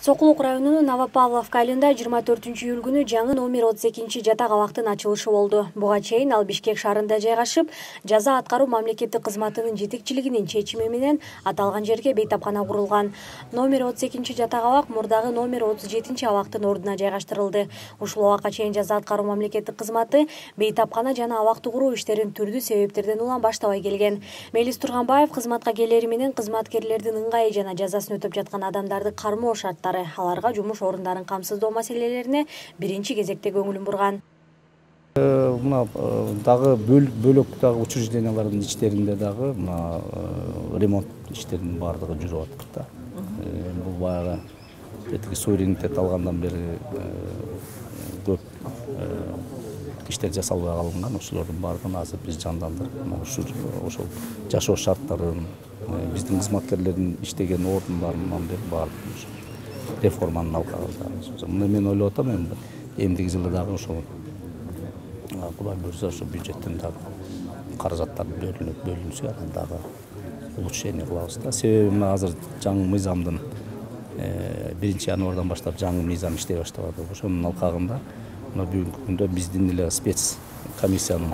Сокулук районунун Новопавловка айылында 24-июль күнү жаңы номер 32 жатак абактын ачылышы болду. Буга чейин ал Бишкек шаарында жайгашып, жаза аткаруу мамлекеттик кызматынын жетекчилигинин чечими менен аталган жерге бейтапкана курулган. Номер 32 жатак абак мурдагы номер 37 абактын ордуна жайгаштырылды. Ушул убакка чейин жаза аткаруу мамлекеттик кызматы бейтапкана жана абакты куруу иштерин түрдүү себептерден улам баштабай келген. Мелис Турганбаев кызматка келери менен кызматкерлердин ыңгайы жана жазасын өтөп жаткан адамдарды кармоо шарттары, аларга жумуш орундарын камсыздоо маселелерине биринчи кезекте көңүлүн бурган. Мына дагы бөлөк дагы учреждениялардын ичтеринде дагы мына ремонт иштеринин баардыгы жүрүп атат да. Бул баягы тетиги суверенитет алгандан бери көп иштер жасалбай калган. Ошолордун баардыгын азыр биз жандандырып, ошол жашоо шарттарын, биздин кызматкерлердин иштеген ордундарынан бери баардыгын реформанын алкагында. Мына мен ойлоп атам, эми эмдиги жылы дагы ошол Кудай буйрса ошо бюджеттен дагы каражаттар бөлүнсө, анан дагы улучшение кылабыз да. Себеби мына азыр жаңы мыйзамдын 1-январдан баштап жаңы мыйзам иштей баштап атат. Ошонун алкагында мына бүгүнкү күндө биздин эле спец комиссиянын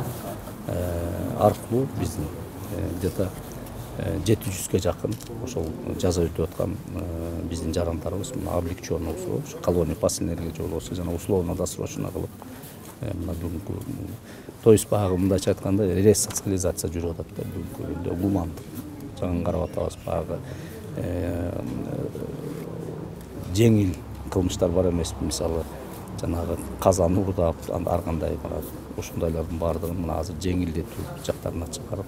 аркылуу биздин где-то 700-ге жакын ошол жаза өтүп аткан биздин жарандарыбыз мына облегченный болсо, колония поселениялерге жолбосо жана условно досрочно кылып мына бүгүнкү, то есть баягы мындайча айтканда ресоциализация жүрүп атат да бүгүнкү күндө гумандык жагын карап атабыз. Баягы жеңил кылмыштар бар эмеспи, мисалы жанагы казан уурдап, ар кандай ушундайлардын баардыгын мына азыр жеңилдетүү жактарына чыгарып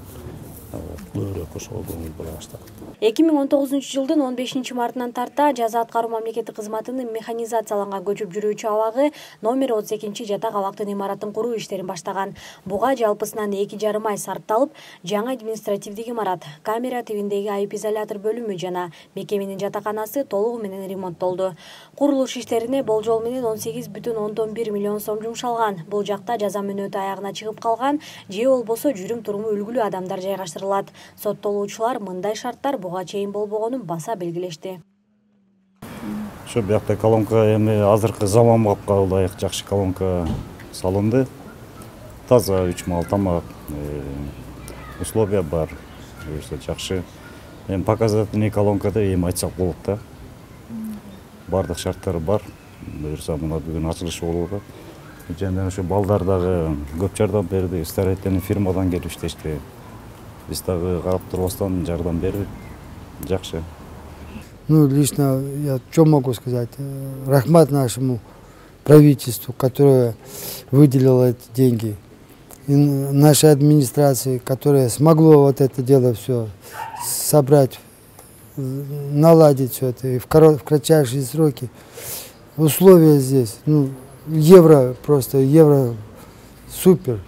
көбүрөөк ошого көңүл бура баштадык. 2019-жылдын 15-мартынан тарта жаза аткаруу мамлекеттик кызматынын механизацияланган көчүп жүрүүчү абагы номер 32 жатак абактын имаратын куруу иштерин баштаган. Буга жалпысынан 2,5 ай сарпталып, жаңы административдик имарат, камера тибиндеги айып изолятор бөлүмү жана мекеменин жатаканасы толугу менен ремонттолду. Курулуш иштерине болжол менен 18,1 миллион сом жумшалган. Бул жакта жаза мөөнөтү аягына чыгып калган же болбосо жүрүм-туруму үлгүлүү адамдар жайгаштырылат. Соттолуучулар мындай шарттар буга чейин болбогонун баса белгилешти. Ошо биякта колонка эми азыркы заманга ылайык жакшы колонка салынды. Таза үч-мал тамак, условия бар, жакшы. Эми показательный колонкада эми айтсак болот да. Бардык шарттары бар. Буюрса мына бүгүн ачылышы болуп атат. Жана ошо балдар дагы көп жардам берди. Строительный фирмадан келип иштешти. Биз дагы карап турбастан жардам бердик. Жакшы. Ну, лично я что могу сказать? Рахмат нашему правительству, которое выделило эти деньги. И нашей администрации, которая смогло вот это дело все собрать, наладить все это и в кратчайшие сроки. Условия здесь, ну, евро супер.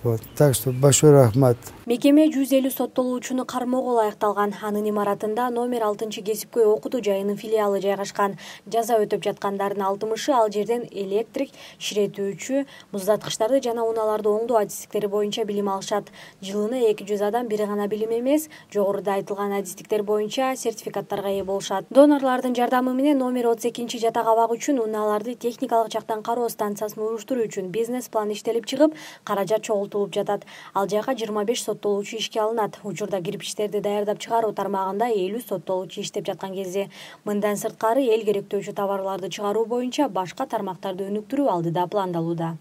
Вот, так что большой рахмат. Мекеме 150 соттолуучуну кармоого ылайыкталган. Анын имаратында номер 6-кесипкөй окутуу жайынын филиалы жайгашкан. Жаза өтөп жаткандардын 60-ы ал жерден электрик, ширетүүчү, муздаткычтарды жана унааларды оңдоо адистиктери боюнча билим алышат. Жылына 200 адам бир гана билим эмес, жогоруда айтылган адистиктер боюнча сертификаттарга ээ болушат. Донорлордун жардамы менен номер 32 жатак абак үчүн унааларды техникалык жактан кароо станциясын уруштуруу үчүн бизнес план иштелип чыгып, каражат чогултулуп жатат. Ал жайга 25 соттолуучу ишке алынат. Учурда кирпичтерди даярдап чыгаруу тармагында 50 соттолуучу иштеп жаткан кезде. Мындан сырткары эл керектөөчү товарларды чыгаруу боюнча башка тармактарды өнүктүрүү алдыда пландалууда.